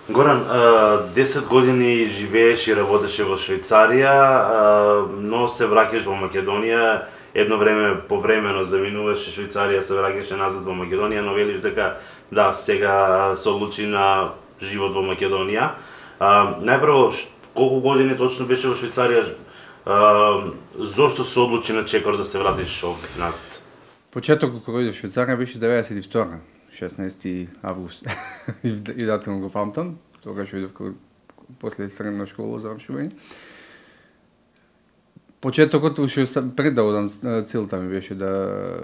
Горан, 10 години живееш и работеше во Швајцарија, но се враќаш во Македонија. Едно време повремено заминуваше Швајцарија, се враќаше назад во Македонија, но велиш дека да, сега се одлучи на живот во Македонија. Најпрво, колку години точно беше во Швајцарија? Зошто се одлучи на чекор да се вратиш овде назад? Почетокот кога дојдов во Швајцарија беше 92-ра, 16 август. И датум го памтам, тогаш дојдов после средна школа завршување. Почетокот уште пред да одам, целта ми беше да,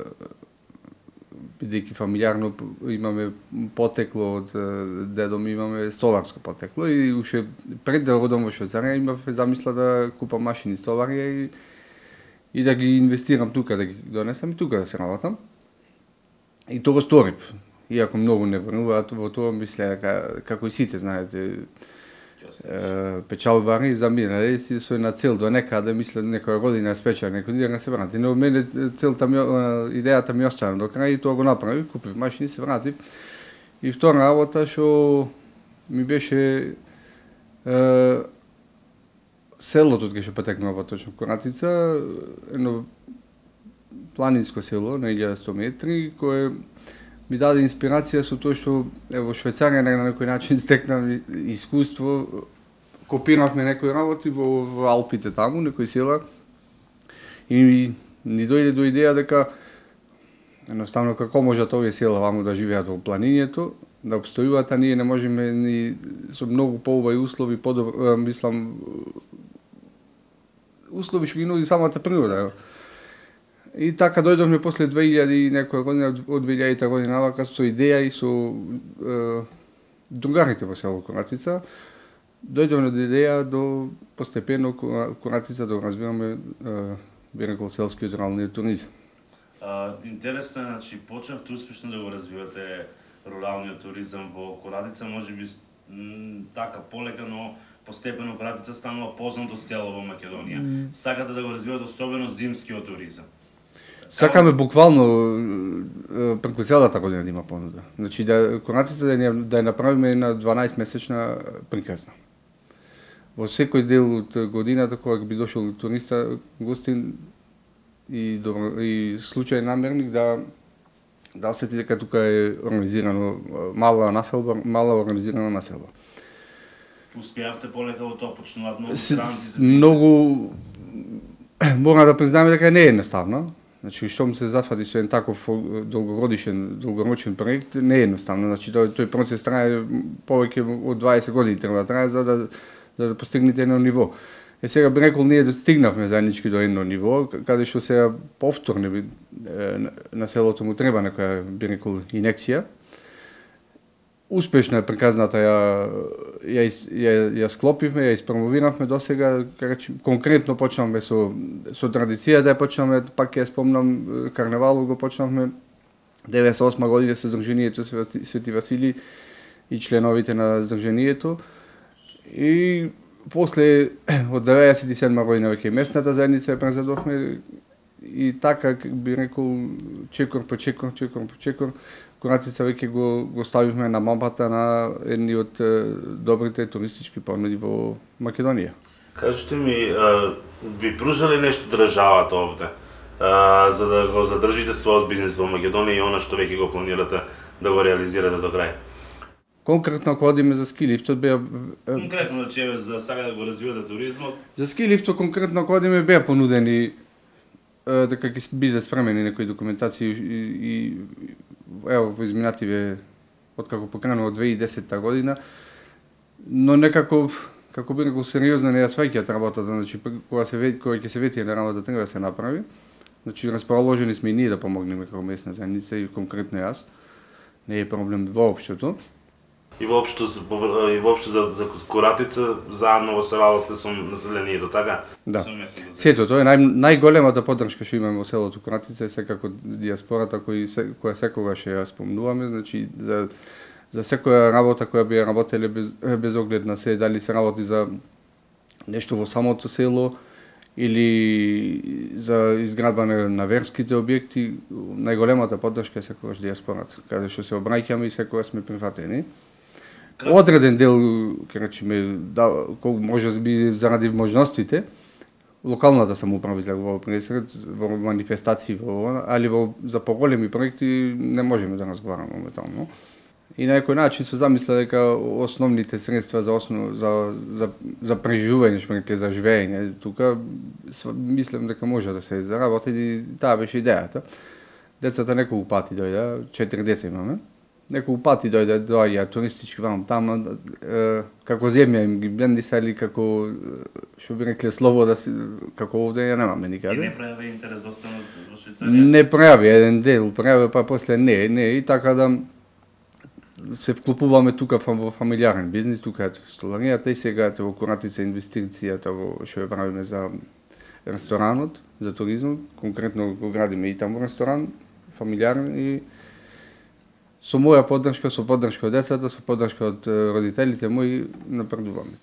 бидејќи фамилиарно имаме потекло од дедо ми, имаме столарско потекло и уште пред да одам во Швајцарија имав замисла да купам машини столарија и да ги инвестирам тука, да ги донесам и тука да се работам. И тоа го сторив. Иако многу не веруваат во тоа, мисле како и сите, знаете, печалбари заминале си со една цел до некаде, мисле некоја година спеча, некој ден се врати. Но мене целта ми, идејата ми остана до крај и тоа го направив, купив машини, се вратив. И втора работа што ми беше селото кај што потекнува точно Коратица, едно планинско село на 1100 метри, кое ми даде инспирација со тоа што во Швајцарија на некој начин стекнав искуство, копиравме некои работи во Алпите таму, некои села, и ни дојде до идеја дека едноставно како можат овие села ваму да живеат во планињето, да обстојуваат, а ние не можеме ни со многу поубави услови, мислам, услови што ги нуди самата природа. И така дојдовме после 2000 и некоја година, од 2000 година навака со идеја и со другарите во село Коратица, дојдовме до идеја до постепено Коратица да го развиваме, би рекол, селскиот руралниот туризам. Интересно е, значи, почнавте успешно да го развивате руралниот туризам во Коратица, можеби така полека, но постепено Коратица станува познато село во Македонија. Сакате да го развивате особено зимскиот туризам. Сакаме буквално преку целата година да има понуда. Значи да Коратица да ја направиме една 12-месечна приказна. Во секој дел од годината кога би дошол туриста, гостин и случајен намерник да осети дека тука е организирано мала организирана населба. Успеавте полека во тоа, почнуваат многу странци? Многу, мора да признаеме дека не е едноставно. Значи, штом се зафати со еден таков долгорочен проект, не е едноставно. Значи, тој процес трае повеќе од 20 години треба да трае за да постигнете едно ниво. Сега би рекол, ние достигнавме заеднички до едно ниво, каде што сега повторно на селото му треба некоја, би рекол, инекција. Успешна е приказната, ја склопивме, ја испромовиравме досега, конкретно почнавме со традиција, да ја почнавме, пак ја спомнам, карневалот го почнавме 98 година со Здруженијето Свети Васили и членовите на Здруженијето. И после, од 97 година веќе местната заедница ја презедовме и така, би рекол, чекор по чекор, Коратица веќе го ставивме на мапата на едни од добрите туристички понуди во Македонија. Кажете ми, ви пружали нешто државата овде, за да го задржите својот бизнис во Македонија и она што веќе го планирате да го реализирате до крај? Конкретно, ако одиме за ски лифтот, Конкретно, значи, за сега да го развивате туризмот? За ски лифтот, конкретно, ако одиме, беа понудени дека ќе биде спремени некои документации и ево во изминативе откако покренува 2010 година, но некако како би рекол сериозно не ја сваќаат работата, значи кога ќе се вети на работа треба да се направи. Значи расположени сме и ние да помогнеме како местна заедница и конкретно јас. Не е проблем воопштето. И воопшто за Коратица заедно во селото со населението, така? Да. Сето тоа е најголемата поддршка што имаме во селото Коратица е секако диаспората која секогаш ја спомнуваме, значи за секоја работа која би ја работеле без оглед на се, дали се работи за нешто во самото село или за изградба на верските објекти, најголемата поддршка е секогаш диаспората, каде што се обраќаме и секогаш сме прифатени. одреден дел, ќе речеме, да, може би заради можностите, локалната самоуправа излегува во пресред, во манифестации, али за поголеми проекти не можеме да разговараме моментално. И на некој начин се замисля дека основните средства за преживување, шпрете за живење, тука мислам дека може да се заработи и таа беше идејата. Децата неколку пати дојде, 4 деца имаме. Неколку пати доаѓа туристички вам таму, како земја им ги блендисали, како што би рекле слобода, како овде ја немаме никаде. И не пројави интерес да останат во Швајцарија? Не пројави, еден дел пројави, па после не, и така да се вклопуваме тука во фамилиарен бизнис, тука е столаријата и сега е во Коратица инвестицијата во што ја правиме за ресторанот, за туризмот, конкретно го градиме и таму ресторан, фамилиарен и со моја поддршка, со поддршка од децата, со поддршка од родителите мои напредуваме.